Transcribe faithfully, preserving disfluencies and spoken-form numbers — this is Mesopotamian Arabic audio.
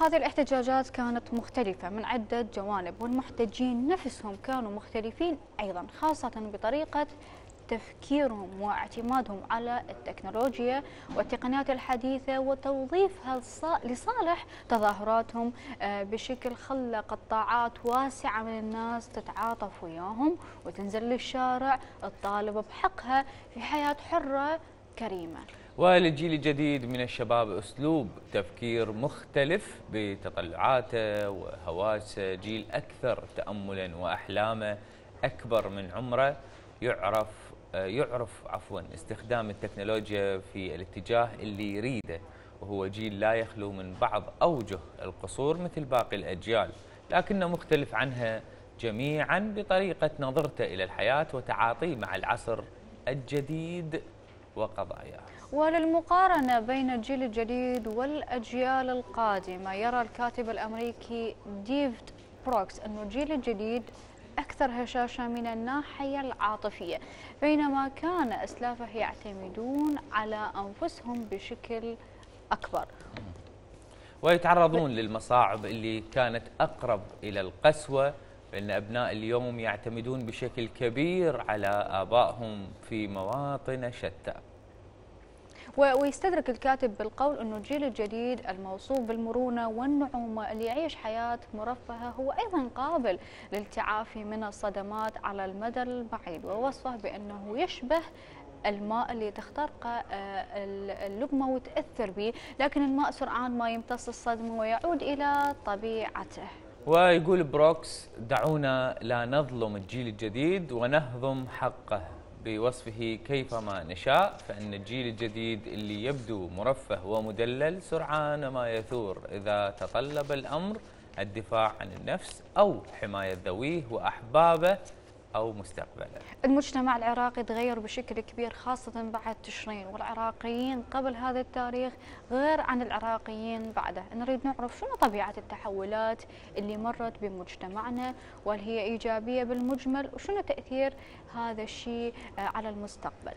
هذه الاحتجاجات كانت مختلفة من عدة جوانب، والمحتجين نفسهم كانوا مختلفين أيضا، خاصة بطريقة تفكيرهم واعتمادهم على التكنولوجيا والتقنيات الحديثة وتوظيفها لصالح تظاهراتهم بشكل خلى قطاعات واسعة من الناس تتعاطف وياهم وتنزل للشارع تطالب بحقها في حياة حرة كريمة. وللجيل الجديد من الشباب أسلوب تفكير مختلف بتطلعاته وهواسه، جيل أكثر تأملا وأحلامه أكبر من عمره، يعرف يعرف عفوا استخدام التكنولوجيا في الاتجاه اللي يريده، وهو جيل لا يخلو من بعض أوجه القصور مثل باقي الأجيال، لكنه مختلف عنها جميعا بطريقة نظرته إلى الحياة وتعاطيه مع العصر الجديد وقضاياه. وللمقارنة بين الجيل الجديد والأجيال القادمة، يرى الكاتب الأمريكي ديفيد بروكس أن الجيل الجديد أكثر هشاشة من الناحية العاطفية، بينما كان أسلافه يعتمدون على أنفسهم بشكل أكبر ويتعرضون للمصاعب اللي كانت أقرب إلى القسوة، فإن أبناء اليوم يعتمدون بشكل كبير على آبائهم في مواطن شتى. ويستدرك الكاتب بالقول أنه الجيل الجديد الموصوف بالمرونة والنعومة اللي يعيش حياة مرفهة هو أيضا قابل للتعافي من الصدمات على المدى البعيد، ووصفه بأنه يشبه الماء اللي تخترقه اللقمة وتأثر به، لكن الماء سرعان ما يمتص الصدمة ويعود إلى طبيعته. ويقول بروكس: دعونا لا نظلم الجيل الجديد ونهضم حقه بوصفه كيفما نشاء، فإن الجيل الجديد اللي يبدو مرفه ومدلل سرعان ما يثور إذا تطلب الأمر الدفاع عن النفس أو حماية ذويه وأحبابه أو مستقبله. المجتمع العراقي تغير بشكل كبير خاصة بعد تشرين، والعراقيين قبل هذا التاريخ غير عن العراقيين بعده. نريد نعرف شنو طبيعة التحولات اللي مرت بمجتمعنا، وهل هي إيجابية بالمجمل، وشنو تأثير هذا الشيء على المستقبل.